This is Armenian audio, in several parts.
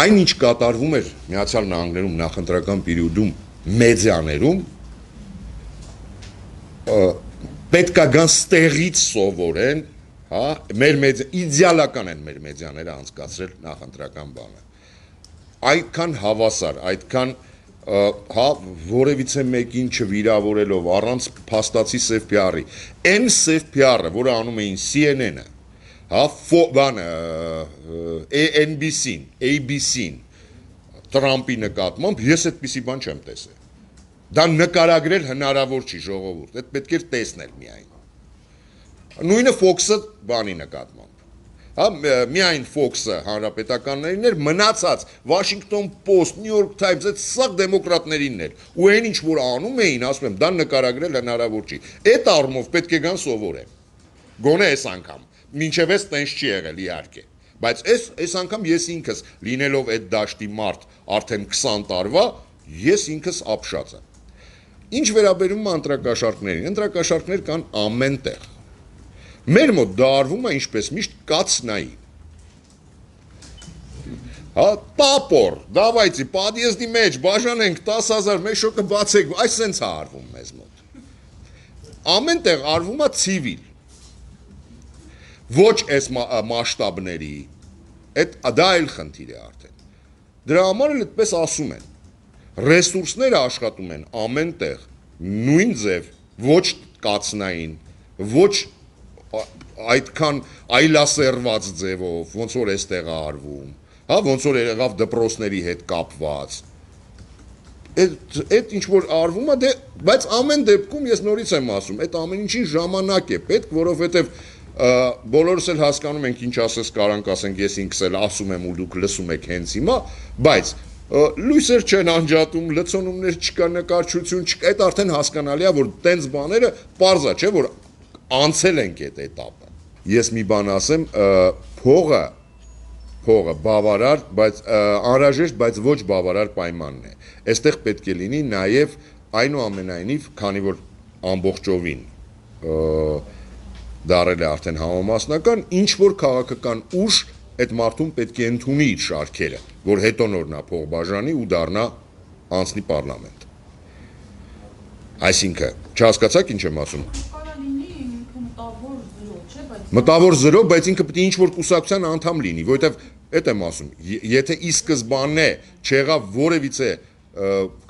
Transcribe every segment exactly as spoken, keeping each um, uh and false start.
Այն ինչ կատարվում էր Միացյալ Նահանգներում նախընտրական պերիոդում մեդիաներում պետք է գան ստեղից սովորեն, հա, մեր մեդիա իդեալական են մեր մեդիաները անցկացրել նախընտրական բանը։ Այդքան հավասար, այդքան հա որևիցե մեկին չվիրավորելով առանց փաստացի սև պիարի, այն սև պիարը, որը անում էին C N N-ը, հա, բանը N B C-ն, A B C-ն, Տրամպի նկատմամբ, ես այդպիսի բան չեմ տեսել։ Դա նկարագրել հնարավոր չի ժողովուրդ, այդ պետք էր տեսնել միայն։ Նույնը Fox-ը բանի նկատմամբ։ Հա, միայն Fox-ը հանրապետականներին էր, մնացած Washington Post, New York Times, այդ սաղ դեմոկրատներինն էր։ Ու այն ինչ որ անում էին, ասում եմ, դա նկարագրել հնարավոր չի։ Այդ առումով պետք է գան սովորեն։ Գոնե այս անգամ, մինչև այս տենց չի եղել իհարկե։ Բայց այս այս անգամ ես ինքս լինելով այդ դաշտի մարդ արդեն քսան տարվա, ես ինքս ապշած եմ։ Ինչ վերաբերում է ընտրակաշառքներին, ընտրակաշառքներ կան ամեն տեղ։ Մեր մոտ դա արվում է ինչպես միշտ կացնայի։ Հա, տապոր, դավայցի, պատիեզդի մեջ, բաժանենք տասը հազար, մեկ շոկը բացեք, այս սենց է արվում մեզ մոտ։ Ամեն տեղ արվում է ցիվիլ։ Ոչ այս մասշտաբների, դա այլ խնդիր է արդեն։ Դրա համար էլ այդպես ասում են։ Ռեսուրսները աշխատում են ամեն տեղ, նույն ձև, ոչ կացնային, ոչ այդքան այլասերված ձևով, ոնց որ այստեղ է արվում, հա, ոնց որ եղավ դպրոցների հետ կապված։ Այդ ինչ որ արվում է, դե, բայց ամեն դեպքում ես նորից եմ ասում, այդ ամեն ինչին ժամանակ է պետք, որովհետև բոլորս էլ հասկանում ենք ինչ ասես կարանք ասենք, ես ինքս էլ ասում եմ ու դուք լսում եք հենց հիմա, բայց լույսեր չեն անջատում, լցոնումներ չկա, նկարչություն չկա, այդ արդեն հասկանալի է, որ տենց բաները պարզ է, չէ, որ անցել ենք այդ էտապը։ Ես մի բան ասեմ, փողը, փողը բավարար, բայց անհրաժեշտ, բայց ոչ բավարար պայմանն է։ Այստեղ պետք է լինի նաև այնուամենայնիվ, քանի որ ամբողջովին դարել է արդեն համամասնական, ինչ որ քաղաքական ուժ այդ մարդուն պետք է ընդունի իր շարքերը, որ հետո նոր նա փող բաժանի ու դառնա անցնի պարլամենտ։ Այսինքն, չհասկացաք ինչ եմ ասում։ Մտավոր զրո, բայց ինքը պետք է ինչ որ կուսակցության անդամ լինի, որովհետև այդ եմ ասում, եթե ի սկզբանե չեղավ որևիցե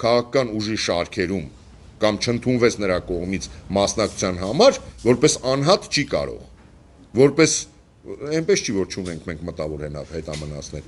քաղաքական ուժի շարքերում կամ չընդունվեց նրա կողմից մասնակցության համար, որպես անհատ չի կարող, որպես այնպես չի, որ չունենք մենք մտավոր հետամնացներ։